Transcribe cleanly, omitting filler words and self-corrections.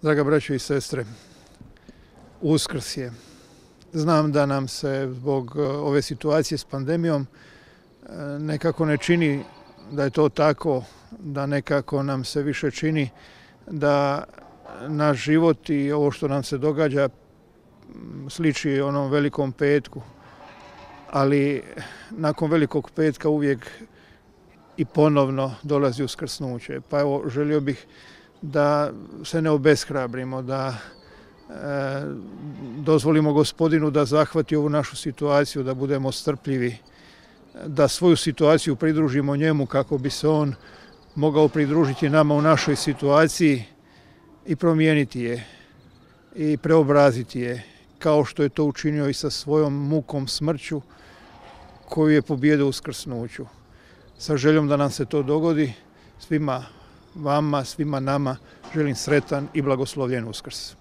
Draga braćo i sestre, Uskrs je. Znam da nam se zbog ove situacije s pandemijom nekako ne čini da je to tako, da nekako nam se više čini da naš život i ovo što nam se događa sliči onom velikom petku. Ali nakon velikog petka uvijek i ponovno dolazi uskrsnuće. Pa evo, želio bih da se ne obeshrabrimo, da dozvolimo Gospodinu da zahvati ovu našu situaciju, da budemo strpljivi, da svoju situaciju pridružimo njemu kako bi se on mogao pridružiti nama u našoj situaciji i promijeniti je i preobraziti je, kao što je to učinio i sa svojom mukom, smrću koju je pobijedio u uskrsnuću. Sa željom da nam se to dogodi, svima vama, svima nama želim sretan i blagoslovljen Uskrs.